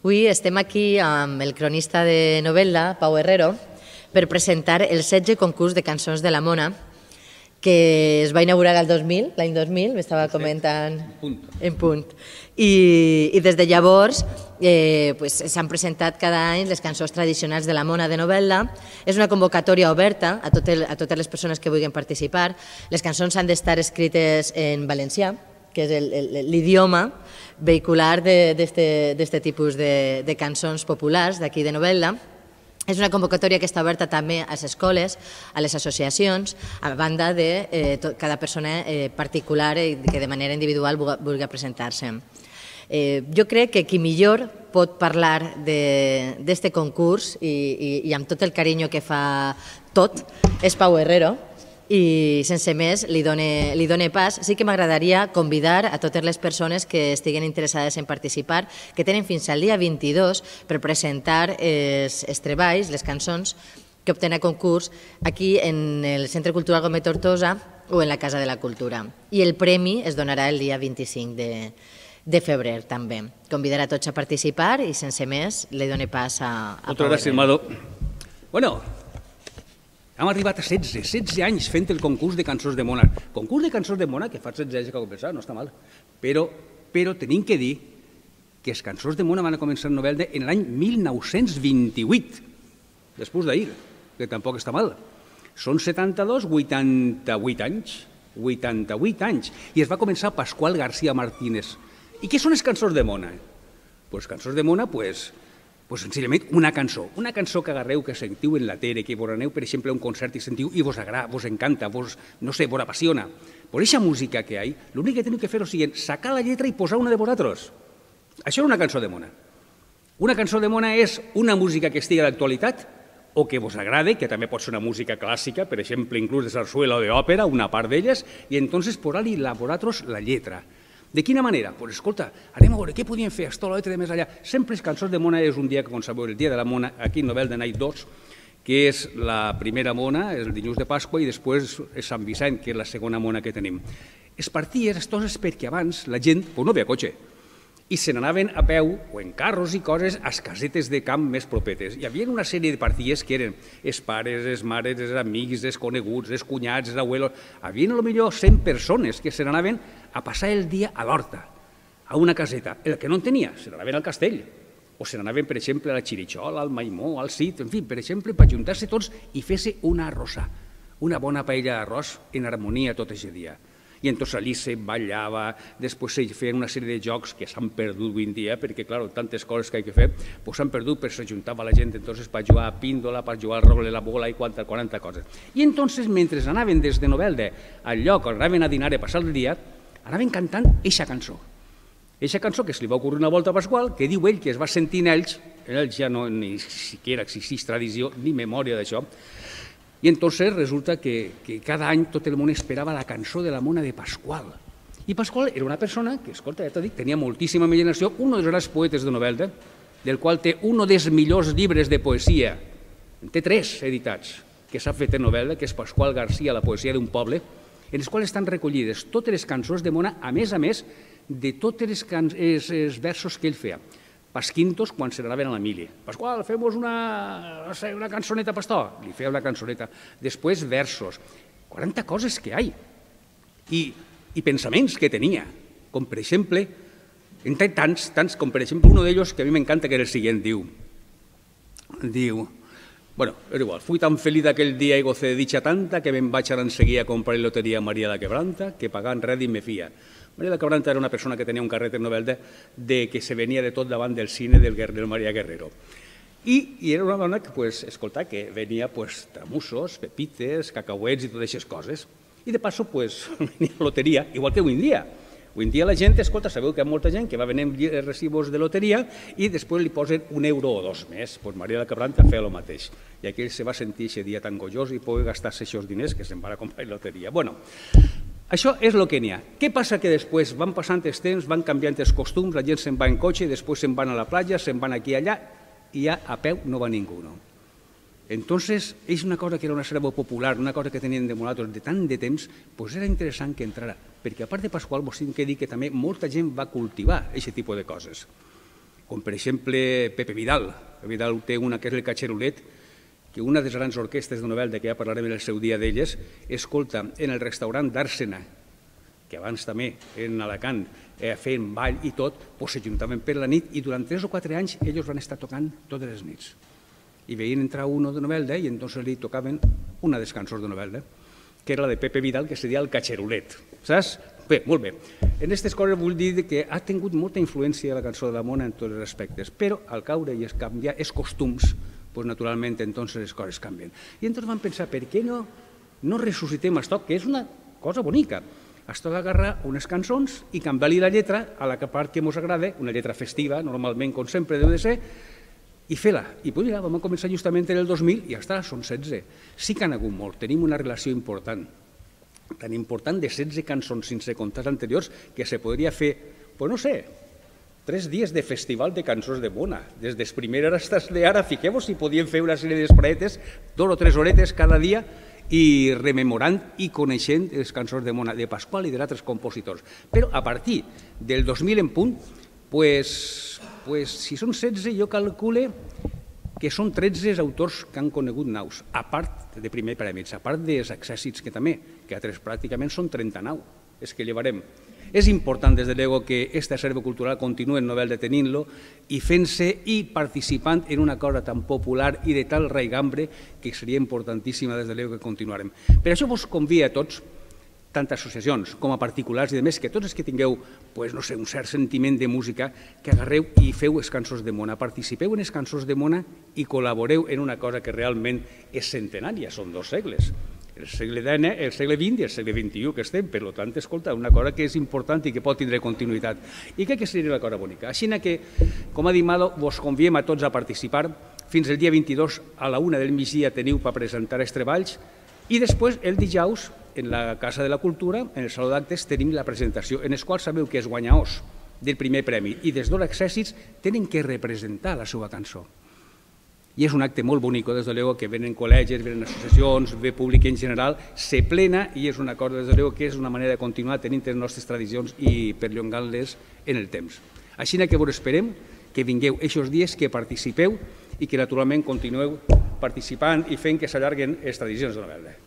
Avui estem aquí amb el cronista de novel·la, Pau Herrero, per presentar el 16è concurs de cançons de la Mona, que es va inaugurar l'any 2000, m'estava comentant en punt. I des de llavors s'han presentat cada any les cançons tradicionals de la Mona de novel·la. És una convocatòria oberta a totes les persones que vulguin participar. Les cançons han d'estar escrites en valencià, que és l'idioma vehicular d'aquest tipus de cançons populars d'aquí de novel·la. És una convocatòria que està oberta també a les escoles, a les associacions, a banda de cada persona particular que de manera individual vulgui presentar-se. Jo crec que qui millor pot parlar d'aquest concurs i amb tot el carinyo que fa tot és Pau Herrero, i sense més li done pas. Sí que m'agradaria convidar a totes les persones que estiguen interessades en participar, que tenen fins al dia 22 per presentar els treballs, les cançons que obtenen a concurs aquí en el Centre Cultural Gómez Tortosa o en la Casa de la Cultura. I el premi es donarà el dia 25 de febrer també. Convidar a tots a participar i sense més li done pas a Pau Herrero. Moltes gràcies, Mado. Bueno, hem arribat a 16 anys fent el concurs de cançons de Mona. Concurs de cançons de Mona, que fa 16 anys que ho pensava, no està mal. Però tenim que dir que les cançons de Mona van començar en novel·la en l'any 1928, després d'ahir, que tampoc està mal. Són 72, 88 anys. 88 anys. I es va començar Pasqual García Martínez. I què són les cançons de Mona? Les cançons de Mona, senzillament una cançó que agarreu, que sentiu en la tele, que vos aneu, per exemple, a un concert i sentiu i vos agrada, vos encanta, vos apassiona. Per aquesta música que hi ha, l'únic que teniu que fer és sacar la lletra i posar una de vosaltres. Això és una cançó de Mona. Una cançó de Mona és una música que estigui d'actualitat o que vos agrade, que també pot ser una música clàssica, per exemple, inclús de sarsuela o d'òpera, una part d'elles, i entonces posar-li a vosaltres la lletra. De quina manera? Doncs escolta, anem a veure què podíem fer, esto, l'altre, de més allà. Sempre les cançons de Mona és un dia que, com sabeu, el dia de la Mona, aquí en Novel de Night 2, que és la primera Mona, el dilluns de Pasqua, i després és Sant Vicent, que és la segona Mona que tenim. Es parties, és perquè abans la gent no havia cotxe, i se n'anaven a peu o en carros i coses a les casetes de camp més propetes. Hi havia una sèrie de partides que eren els pares, les mares, els amics, els coneguts, els cunyats, els abuelos. Hi havia potser 100 persones que se n'anaven a passar el dia a l'horta, a una caseta. El que no en tenia, se n'anaven al castell. O se n'anaven, per exemple, a la Xirixola, al Maimó, al Cid, en fi, per exemple, per ajuntar-se tots i fer-se una arrossa, una bona paella d'arròs en harmonia tot aquest dia. I entonces allí se ballava, després se feien una sèrie de jocs que s'han perdut avui en dia, perquè, clar, tantes coses que hi ha que fer, s'han perdut, però s'ajuntava la gent entonces per jugar a píndola, per jugar al rogle, la bola i 40 coses. I entonces, mentre anaven des de Novelda al lloc on anaven a dinar a passar el dia, anaven cantant eixa cançó. Eixa cançó que se li va ocórrer una volta a Pasqual, que diu ell que es va sentir en ells ja no ni siquiera existís tradició ni memòria d'això. I entonces resulta que cada any tot el món esperava la cançó de la Mona de Pasqual. I Pasqual era una persona que, escolta, ja t'ho dic, tenia moltíssima imaginació, un dels grans poetes de novel·la, del qual té un dels millors llibres de poesia, en té 3 editats, que s'ha fet en novel·la, que és Pasqual García, la poesia d'un poble, en els quals estan recollides totes les cançons de Mona, a més, de tots els versos que ell feia. Pasquintos quan se n'anaven a la mili. Pasqual, fem-nos una cançoneta, pastor. Li feia una cançoneta. Després versos. 40 coses que hi ha. I pensaments que tenia. Com per exemple, tants com per exemple un d'ells que a mi m'encanta, que era el següent. Diu, bueno, és igual, fui tan feliz aquell dia y gocé de dicha tanta que me'n vaig anar enseguida a comprar lotería a María la Quebranta, que pagant res i me fia. María la Quebranta era una persona que tenia un carret en novel·la que se venia de tot davant del cine del María Guerrero. I era una dona que, escolta, que venia tramussos, pepites, cacauets i totes aquestes coses. I de passo venia la loteria, igual que avui en dia. Avui en dia la gent, escolta, sabeu que hi ha molta gent que va venent recibos de loteria i després li posen €1 o 2 més. Doncs María la Quebranta feia el mateix. I aquell se va sentir aquest dia tan gollós i poder gastar-se aquests diners que se'n van a comprar loteria. Bueno, això és el que n'hi ha. Què passa? Que després van passant els temps, van canviant els costums, la gent se'n va en cotxe, després se'n van a la platja, se'n van aquí i allà, i ja a peu no va ningú. Entonces, és una cosa que era una serva popular, una cosa que tenien de nosaltres de tant de temps, doncs era interessant que entrara, perquè a part de Pasqual, vos tinc que dir que també molta gent va cultivar aquest tipus de coses. com per exemple Pepe Vidal. Pepe Vidal té una que és el Catxerulet, que una de les grans orquestes de Novelda, que ja parlarem en el seu dia d'elles, escolta, en el restaurant d'Àrsena, que abans també en Alacant feien ball i tot, s'ajuntaven per la nit i durant 3 o 4 anys ells van estar tocant totes les nits. I veien entrar uno de Novelda i entonces li tocaven una de les cançons de Novelda, que era la de Pepe Vidal, que seria el Catxerulet. Saps? Bé, molt bé. En aquestes coses vull dir que ha tingut molta influència la cançó de la Mona en tots els aspectes, però al caure i canviar els costums, naturalment entonces les coses canvien. I entonces vam pensar, per què no ressuscitem això, que és una cosa bonica. Això d'agarrar unes cançons i canviar-li la lletra a la part que ens agrada, una lletra festiva, normalment, com sempre, deu de ser, i fer-la. I mira, vam començar justament en el 2000 i ja està, són 16. Sí que han hagut molt, tenim una relació important, tan important de 16 cançons sense comptar anteriors que se podria fer, no sé, 3 dies de festival de cançons de Mona. Des de primera hasta ara, fiqueu-vos si podíem fer una sèrie d'espraetes, 2 o 3 horetes cada dia, i rememorant i coneixent les cançons de Mona, de Pasqual i d'altres compositors. Però a partir del 2000 en punt, si són 16, jo calcule que són 13 autors que han conegut naus, a part de primer prèmits, a part dels accèssits que també, que altres pràcticament són 39, és que llevarem. És important, des de luego, que este acervo cultural continue en Novelda tenint-lo i fent-se i participant en una cosa tan popular i de tal raigambre que seria importantíssima, des de luego, que continuarem. Per això vos convido a tots, tant associacions com a particulars i demés, que tots els que tingueu, un cert sentiment de música, que agarreu i feu les cançons de Mona, participeu en les cançons de Mona i col·laboreu en una cosa que realment és centenària, són 2 segles. El segle XX, el segle XX i el segle XXI que estem, per tant, escolta, una cosa que és important i que pot tindre continuïtat. I crec que seria una cosa bonica. Així que, com ha dit Malo, vos conviem a tots a participar. Fins el dia 22 a la 1 del migdia teniu per presentar els treballs i després, el dijous, en la Casa de la Cultura, en el Saló d'Actes, tenim la presentació, en els quals sabeu que els guanyadors del primer premi i dels 2 accèssits tenen que representar la seva cançó. I és un acte molt bonic, des de luego, que venen col·legis, venen associacions, ve públic en general, se plena i és una cosa, des de luego, que és una manera de continuar tenint les nostres tradicions i perllongant-les en el temps. Així que vos esperem que vingueu aquests dies, que participeu i que naturalment continueu participant i fent que s'allarguen les tradicions de Novelda.